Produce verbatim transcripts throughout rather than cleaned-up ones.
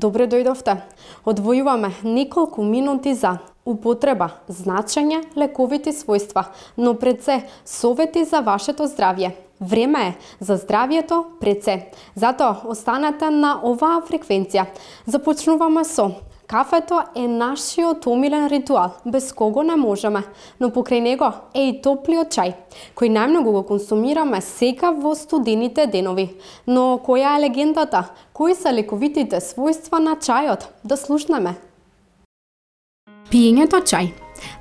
Добре дојдовте. Одвојуваме неколку минути за употреба, значење, лековити својства, но пред се совети за вашето здравје. Време е за здравјето пред се. Затоа останете на оваа фреквенција. Започнуваме со кафето е нашиот омилен ритуал, без кого не можеме, но покрај него е и топлиот чај, кој најмногу го консумираме сега во студените денови. Но која е легендата? Кои се лековитите својства на чајот? Да слушнеме. Пиењето чај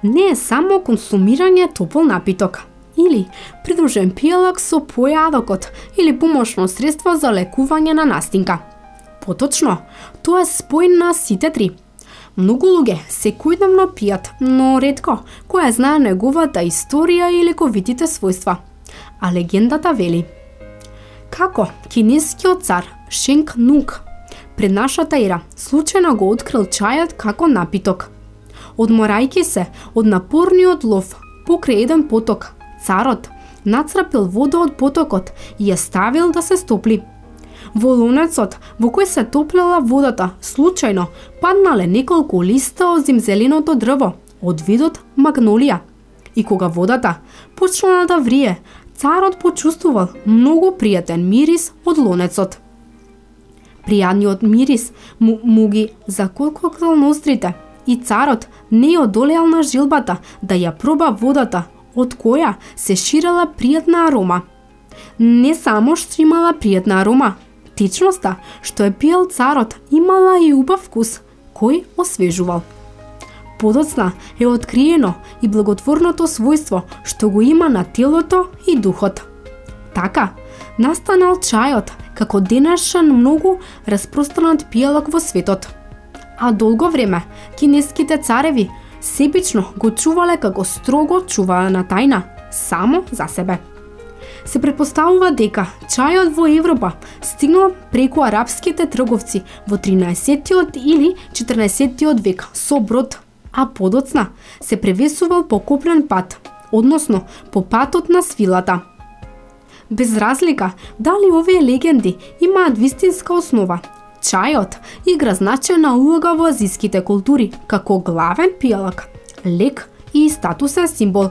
не е само консумирање топол напиток, или придружен пијалак со појадокот, или помошно средство за лекување на настинка. Поточно, тоа е спој на сите три. Многу луѓе секојдневно пијат, но ретко која знае неговата историја и лековитите својства. А легендата вели како кинескиот цар Шенг Нунг пред нашата ера случајно го открил чајот како напиток. Одморајќи се од напорниот лов покрај еден поток, царот нацрапил вода од потокот и ја ставил да се стопли. Во лонецот во кој се топлела водата, случајно паднале неколку листа од зимзеленото дрво од видот магнолија. И кога водата почнала да врие, царот почувствувал многу пријатен мирис од лонецот. Пријатниот мирис му, му ги заколкокнал нострите и царот не одолеал на жилбата да ја проба водата, од која се ширела пријатна арома. Не само што имала пријатна арома, течноста што е пиел царот имала и убав вкус, кој освежувал. Подоцна е откриено и благотворното својство што го има на телото и духот. Така, настанал чајот како денешен многу распространат пијалак во светот. А долго време кинеските цареви себично го чувале како строго чуваана тајна, само за себе. Се претпоставува дека чајот во Европа стигнал преку арапските трговци во тринаесеттиот или четрнаесеттиот век со брод, а подоцна се превесувал по копнен пат, односно по патот на свилата. Без разлика дали овие легенди имаат вистинска основа, чајот игра значајна улога во азиските култури како главен пијалак, лек и статусен символ.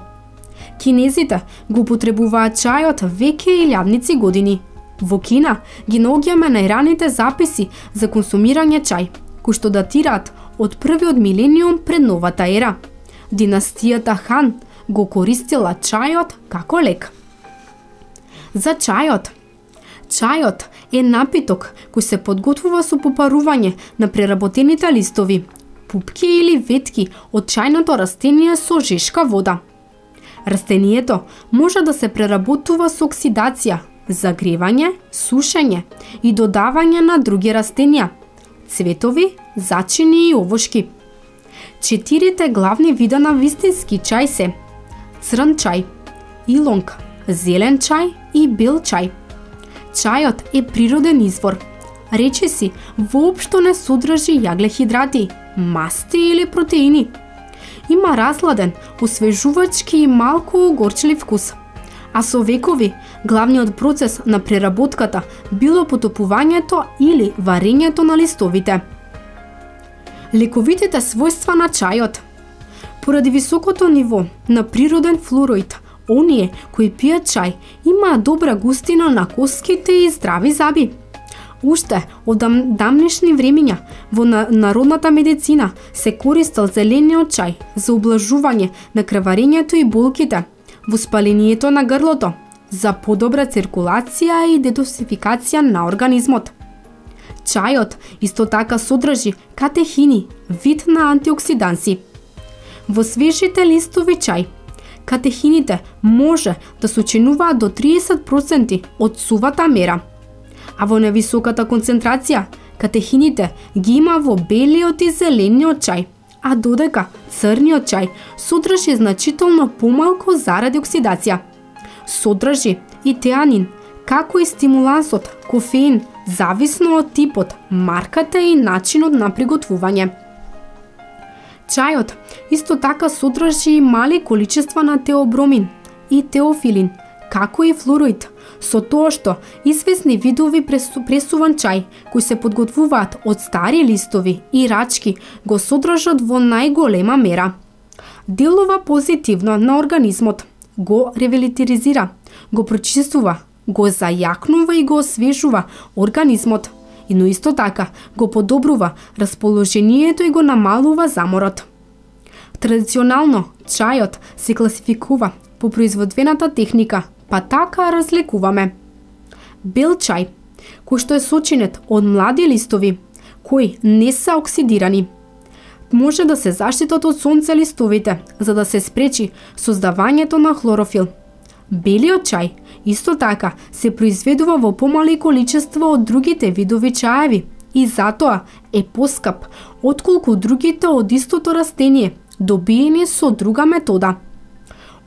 Кинезите го употребуваат чајот веќе илјадници години. Во Кина ги наоѓаме најраните записи за консумирање чај, кои што датираат од првиот милениум пред новата ера. Династијата Хан го користила чајот како лек. За чајот. Чајот е напиток кој се подготвува со попарување на преработените листови, пупки или ветки од чајното растение со жешка вода. Растението може да се преработува со оксидација, загревање, сушење и додавање на други растенија, цветови, зачини и овошки. Четирите главни вида на вистински чај се црн чај, илонг, зелен чај и бел чај. Чајот е природен извор. Речиси воопшто не содржи јаглехидрати, масти или протеини. Има разладен, освежувачки и малку горчлив вкус. А со векови, главниот процес на преработката било потопувањето или варењето на листовите. Лековитите својства на чајот. Поради високото ниво на природен флуороид, оние кои пијат чај имаат добра густина на коските и здрави заби. Уште од дамнешни времиња во народната медицина се користел зелениот чај за ублажување на крварењето и болките, воспалението на грлото, за подобра циркулација и детоксификација на организмот. Чајот исто така содржи катехини, вид на антиоксиданси. Во свежите листови чај, катехините може да сочинуваат до триесет проценти од сувата мера, а во невисоката концентрација катехините ги има во белиот и зелениот чај, а додека црниот чај содржи значително помалку заради оксидација. Содржи и теанин, како и стимулансот кофеин, зависно од типот, марката и начинот на приготвување. Чајот исто така содржи и мали количества на теобромин и теофилин, како и флуороид, со тоа што известни видови пресу, пресуван чај, кои се подготвуваат од стари листови и рачки, го содржат во најголема мера. Делува позитивно на организмот, го ревитализира, го прочистува, го зајакнува и го освежува организмот, но исто така го подобрува расположението и го намалува заморот. Традиционално, чајот се класификува по производствената техника, па така разликуваме. Бел чај, кој што е сочинет од млади листови, кои не се оксидирани, може да се заштитат од сонце листовите, за да се спречи создавањето на хлорофил. Белиот чај исто така се произведува во помали количество од другите видови чаеви и затоа е поскап отколку другите од истото растение, добиени со друга метода.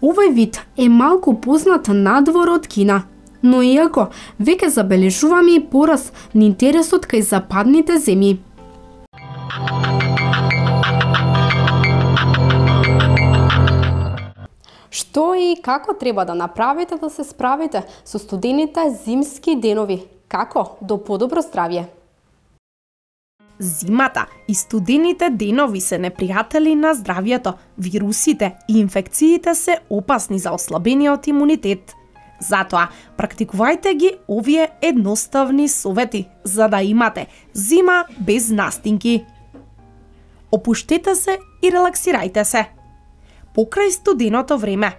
Овој вид е малку познат надвор од Кина, но иако веќе забележуваме и порас на интересот кај западните земји. Што и како треба да направите да се справите со студените зимски денови? Како до подобро здравје? Зимата и студените денови се непријатели на здравјето. Вирусите и инфекциите се опасни за ослабениот имунитет. Затоа, практикувајте ги овие едноставни совети, за да имате зима без настинки. Опуштете се и релаксирајте се. Покрај студеното време,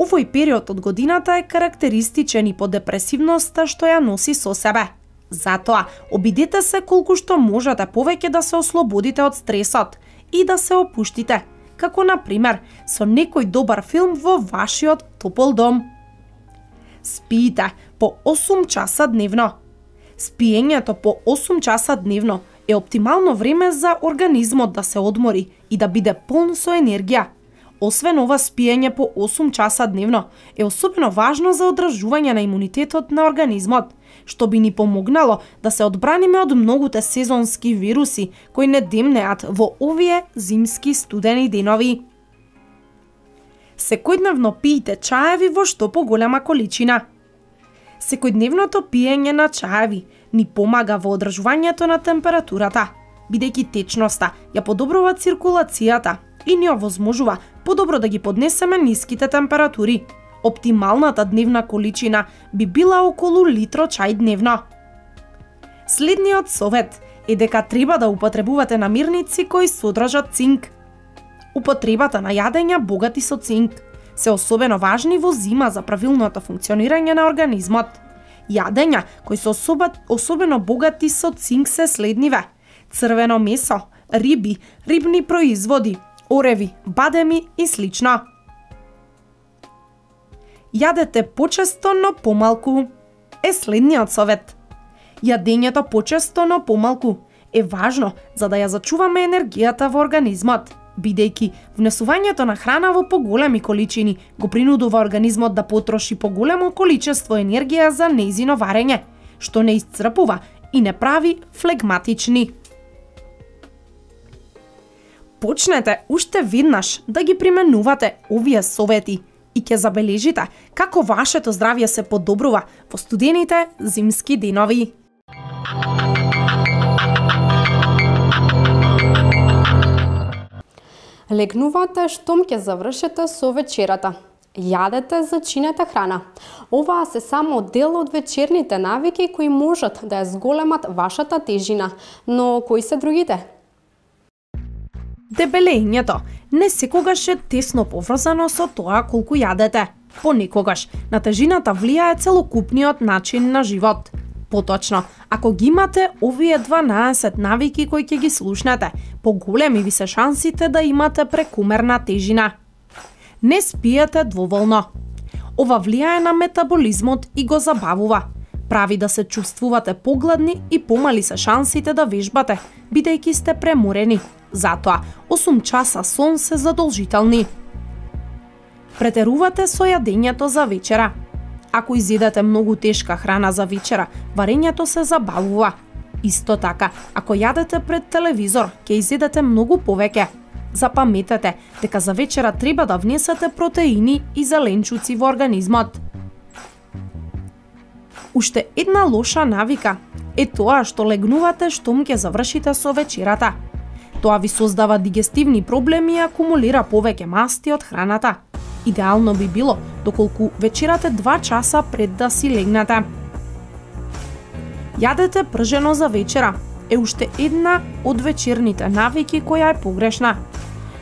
овој период од годината е карактеристичен и по депресивноста што ја носи со себе. Затоа, обидете се колку што можете повеќе да се ослободите од стресот и да се опуштите, како на пример со некој добар филм во вашиот топол дом. Спиите по осум часа дневно. Спиењето по осум часа дневно е оптимално време за организмот да се одмори и да биде полн со енергија. Освен ова, спиење по осум часа дневно е особено важно за одржување на имунитетот на организмот, што би ни помогнало да се одбраниме од многуте сезонски вируси кои не демнеат во овие зимски студени денови. Секојдневно пиете чаеви во што поголема количина. Секојдневното пиење на чаеви ни помага во одржувањето на температурата, бидејќи течноста ја подобрува циркулацијата и ни овозможува подобро да ги поднесеме ниските температури. Оптималната дневна количина би била околу литро чај дневно. Следниот совет е дека треба да употребувате намирници кои содржат цинк. Употребата на јадења богати со цинк се особено важни во зима за правилното функционирање на организмот. Јадења кои се особа, особено богати со цинк се следниве: црвено месо, риби, рибни производи, ореви, бадеми и слично. Јадете почесто, но помалку е следниот совет. Јадењето почесто, но помалку е важно за да ја зачуваме енергијата во организмот, бидејќи внесувањето на храна во поголеми количини го принудува организмот да потроши поголемо количество енергија за нејзино варење, што не исцрпува и не прави флегматични. Почнете уште веднаш да ги применувате овие совети и ќе забележите како вашето здравје се подобрува во студените зимски денови. Легнувате штом ќе завршите со вечерата. Јадете, зачинете храна. Оваа се само дел од вечерните навики кои можат да ја зголемат вашата тежина, но кои се другите? Дебелењето не секогаш е тесно поврзано со тоа колку јадете. Понекогаш на тежината влијае целокупниот начин на живот. Поточно, ако ги имате овие дванаесет навики кои ќе ги слушнете, поголеми ви се шансите да имате прекумерна тежина. Не спиете доволно. Ова влијае на метаболизмот и го забавува. Прави да се чувствувате погладни и помали се шансите да вежбате, бидејќи сте преморени. Затоа, осум часа сон се задолжителни. Претерувате со јадењето за вечера. Ако изедете многу тешка храна за вечера, варењето се забавува. Исто така, ако јадете пред телевизор, ќе изедете многу повеќе. Запаметете дека за вечера треба да внесете протеини и зеленчуци во организмот. Уште една лоша навика е тоа што легнувате штом ќе завршите со вечерата. Тоа ви создава дигестивни проблеми и акумулира повеќе масти од храната. Идеално би било доколку вечерате два часа пред да си легнете. Јадете пржено за вечера е уште една од вечерните навики која е погрешна.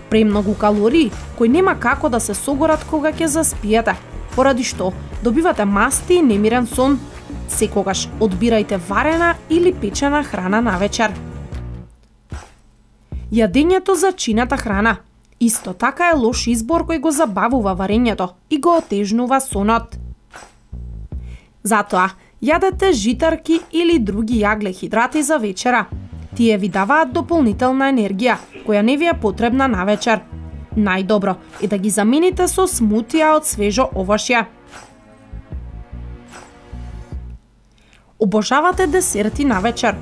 Премногу калории кои нема како да се согорат кога ќе заспиете, поради што добивате масти и немирен сон. Секогаш одбирајте варена или печена храна на вечер. Јадењето за чината храна исто така е лош избор кој го забавува варењето и го отежнува сонот. Затоа, јадете житарки или други јагле-хидрати за вечера. Тие ви даваат дополнителна енергија, која не ви е потребна на вечер. Најдобро е да ги замените со смутија од свежо овошје. Обожавате десерти на вечер.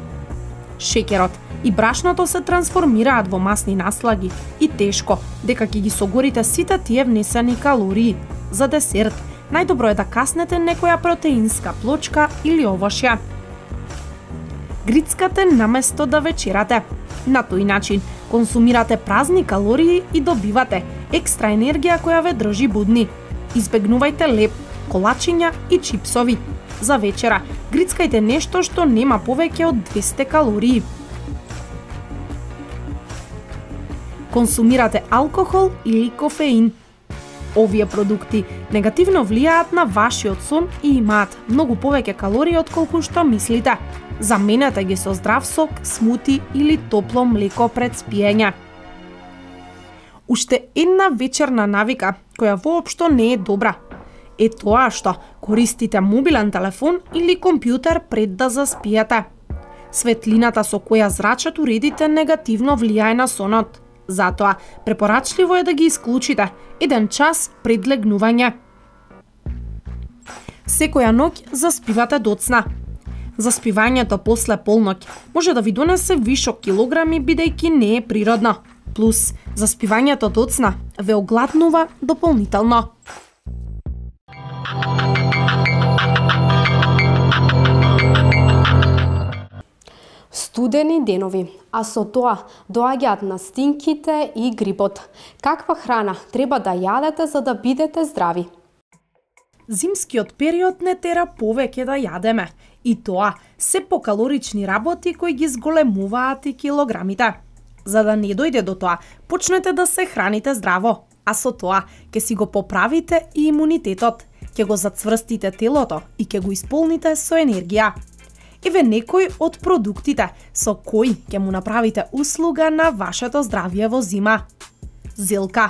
Шеќерот и брашното се трансформираат во масни наслаги и тешко дека ќе ги согорите сите тие внесени калории. За десерт, најдобро е да каснете некоја протеинска плочка или овошје. Грицкате наместо да вечерате. На тој начин консумирате празни калории и добивате екстра енергија која ве држи будни. Избегнувајте леп, колачиња и чипсови. За вечера грицкајте нешто што нема повеќе од двесте калории. Консумирате алкохол или кофеин. Овие продукти негативно влијаат на вашиот сон и имаат многу повеќе калории отколку што мислите. Заменете ги со здрав сок, смути или топло млеко пред спиење. Уште една вечерна навика која воопшто не е добра е тоа што користите мобилен телефон или компјутер пред да заспиете. Светлината со која зрачот уредите негативно влијае на сонот. Затоа, препорачливо е да ги исклучите еден час пред легнување. Секоја ноќ заспивате доцна. Заспивањето после полноќ може да ви донесе вишок килограми бидејќи не е природно. Плюс, заспивањето доцна ве огладнува дополнително. Студени денови, а со тоа доаѓаат настинките и грипот. Каква храна треба да јадете за да бидете здрави? Зимскиот период не тера повеќе да јадеме, и тоа се покалорични работи кои ги зголемуваат и килограмите. За да не дојде до тоа, почнете да се храните здраво, а со тоа ќе си го поправите и имунитетот, ќе го зацврстите телото и ќе го исполните со енергија. Еве некои од продуктите со кои ќе му направите услуга на вашето здравје во зима. Зелка.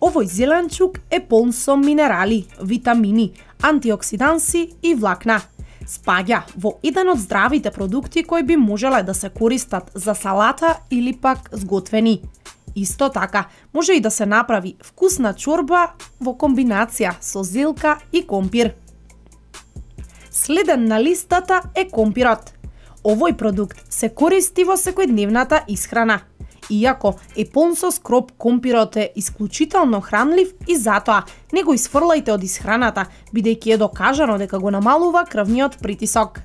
Овој зеленчук е полн со минерали, витамини, антиоксиданси и влакна. Спаѓа во еден од здравите продукти кои би можеле да се користат за салата или пак сготвени. Исто така, може и да се направи вкусна чорба во комбинација со зелка и компир. Следен на листата е компирот. Овој продукт се користи во секојдневната исхрана. Иако е полн со скроп, компирот е исклучително хранлив и затоа не го исфрлајте од исхраната, бидејќи е докажано дека го намалува крвниот притисок.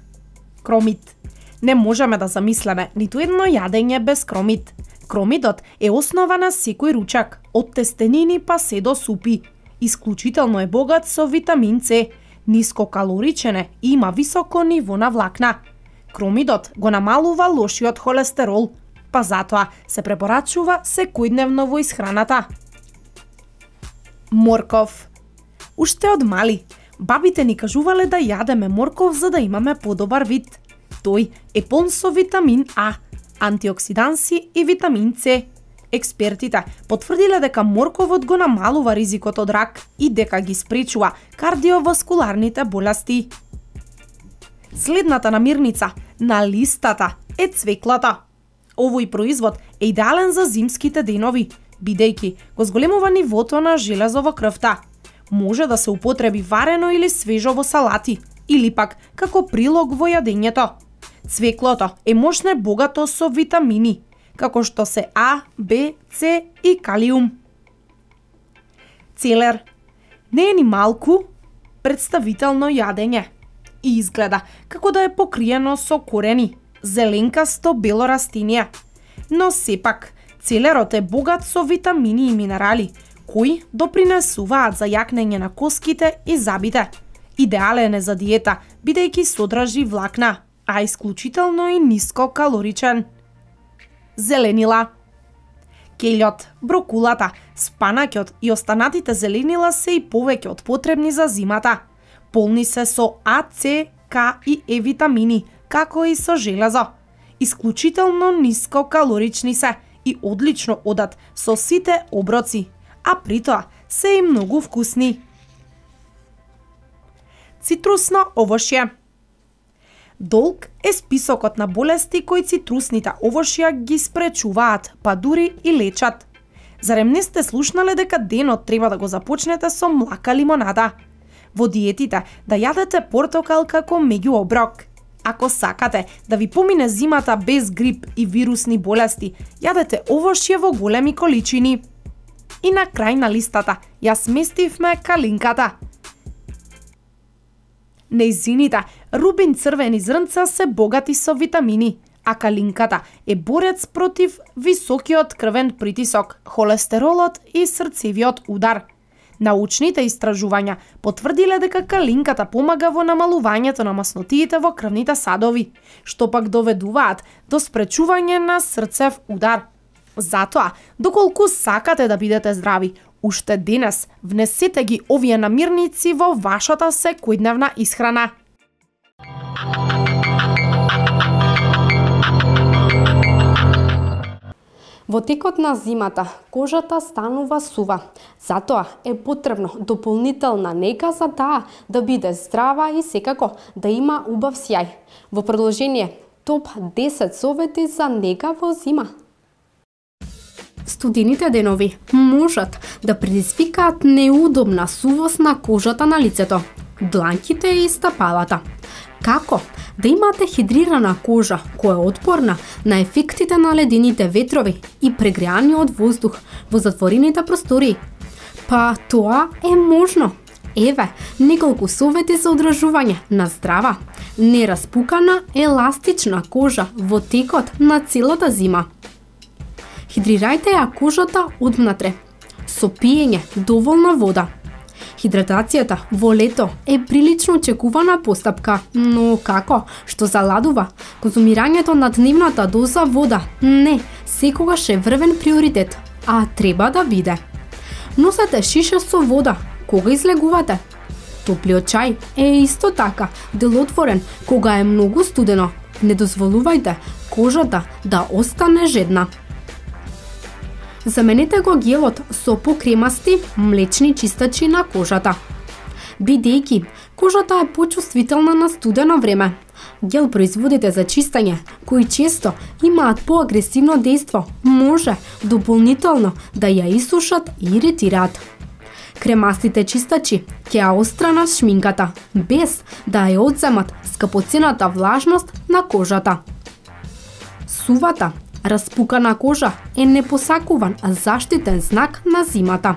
Кромид. Не можеме да замислиме ниту едно јадење без кромид. Кромидот е основа на секој ручак, од тестенини па се до супи. Исклучително е богат со витамин С, нискокалоричен е и има високо ниво на влакна. Кромидот го намалува лошиот холестерол, па затоа се препорачува секојдневно во исхраната. Морков. Уште од мали, бабите ни кажувале да јадеме морков за да имаме подобар вид. Тој е полн со витамин А, антиоксиданси и витамин С. Експертите потврдиле дека морковот го намалува ризикот од рак и дека ги спречува кардиоваскуларните болести. Следната намирница на листата е цвеклото. Овој производ е идеален за зимските денови, бидејќи го зголемува нивото на железо во крвта. Може да се употреби варено или свежо во салати, или пак како прилог во јадењето. Цвеклото е мощно богато со витамини, како што се А, Б, С и калиум. Целер. Не е ни малку представително јадење. и изгледа како да е покриено со корени, зеленкасто бело растиние. Но сепак, целерот е богат со витамини и минерали, кои допринесуваат за јакнење на коските и забите. Идеален е за диета, бидејќи содржи влакна, а исклучително и ниско калоричен. Зеленила. Кељот, брокулата, спанаќот и останатите зеленила се и повеќе од потребни за зимата. Полни се со А, С, К и Е витамини, како и со железо. Исклучително ниско калорични се и одлично одат со сите оброци, а при тоа се и многу вкусни. Цитрусно овошје. Долг е списокот на болести кои цитрусните овошја ги спречуваат, па дури и лечат. Зарем не сте слушнале дека денот треба да го започнете со млака лимонада? Во диетите да јадете портокал како меѓуоброк. Ако сакате да ви помине зимата без грип и вирусни болести, јадете овошје во големи количини. И на крај на листата ја сместивме калинката. Нејзините рубин црвени зрнца се богати со витамини, а калинката е борец против високиот крвен притисок, холестеролот и срцевиот удар. Научните истражувања потврдиле дека калинката помага во намалувањето на маснотиите во крвните садови, што пак доведуваат до спречување на срцев удар. Затоа, доколку сакате да бидете здрави, уште денес внесете ги овие намирници во вашата секојдневна исхрана. Во текот на зимата кожата станува сува, затоа е потребно дополнителна нега за таа да биде здрава и секако да има убав сјај. Во продолжение, топ десет совети за нега во зима. Студените денови можат да предизвикаат неудобна сувост на кожата на лицето, дланките и стапалата. Како да имате хидрирана кожа која е отпорна на ефектите на ледените ветрови и прегреаниот воздух во затворените простории? Па тоа е можно. Еве неколку совети за одржување на здрава, нераспукана, еластична кожа во текот на целата зима. Хидрирајте ја кожата одвнатре со пиење доволно вода. Хидратацијата во лето е прилично очекувана постапка, но како што заладува, конзумирањето на дневната доза вода не секогаш е врвен приоритет, а треба да биде. Носете шиша со вода кога излегувате. Топлиот чај е исто така делотворен кога е многу студено. Не дозволувајте кожата да остане жедна. Заменете го гелот со покремасти млечни чистачи на кожата. Бидејќи кожата е почувствителна на студено време, гел производите за чистење, кои често имаат поагресивно дејство, може дополнително да ја исушат и иритираат. Кремастите чистачи ќе ја остранат шминката, без да ја одземат скапоцената влажност на кожата. Сувата распукана кожа е непосакуван заштитен знак на зимата.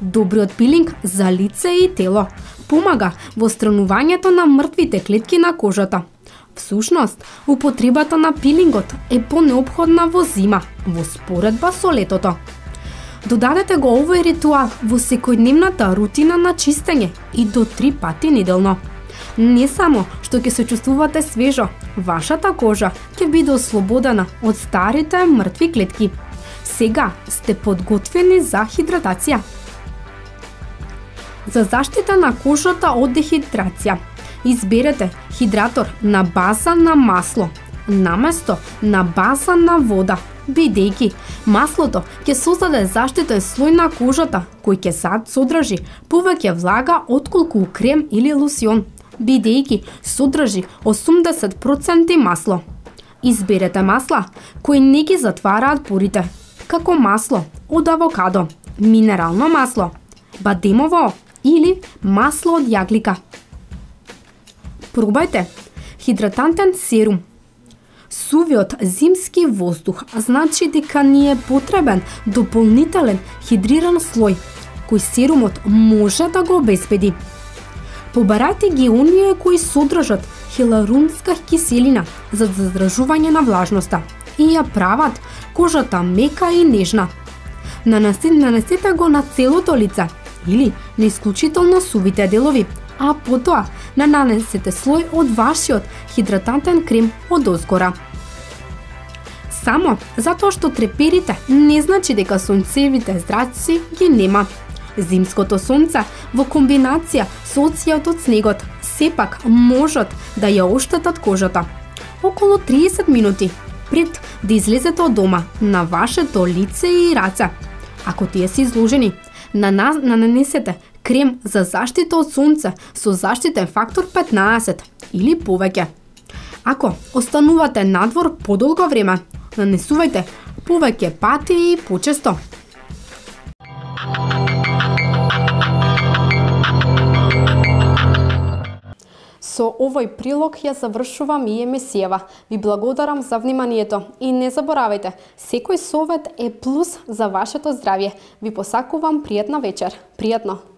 Добриот пилинг за лице и тело помага во странувањето на мртвите клетки на кожата. Всушност, употребата на пилингот е понеопходна во зима, во споредба со летото. Додадете го овој ритуал во секојдневната рутина на чистење и до три пати неделно. Не само што ќе се чувствувате свежо, вашата кожа ќе биде ослободена од старите мртви клетки. Сега сте подготвени за хидратација. За заштита на кожата од дехидрација, изберете хидратор на база на масло, наместо на база на вода, бидејќи маслото ќе создаде заштитен слој на кожата, кој ќе содржи повеќе влага отколку крем или лосјон, бидејќи содржи осумдесет проценти масло. Изберете масла кои не ги затвараат порите, како масло од авокадо, минерално масло, бадемово или масло од јаглика. Пробајте хидратантен серум. Сувиот зимски воздух значи дека ни е потребен дополнителен хидриран слој, кој серумот може да го обезбеди. Побарајте ги оние кои содржат хиларунска киселина за задржување на влажноста и ја прават кожата мека и нежна. Нанесете го на целото лице или на исклучително сувите делови, а потоа нанесете слој од вашиот хидратантен крем од озгора. Само затоа што треперите не значи дека сонцевите зраци ги нема. Зимското сонце во комбинација со оција од снегот сепак можат да ја оштетат кожата. Околу триесет минути пред да излезете од дома на вашето лице и раце, ако тие се изложени, нанесете крем за заштита од сонце со заштитен фактор петнаесет или повеќе. Ако останувате надвор подолго време, нанесувајте повеќе пати и почесто. Со овој прилог ја завршувам и емисијава. Ви благодарам за вниманието и не заборавајте, секој совет е плюс за вашето здравје. Ви посакувам пријатна вечер. Пријатно!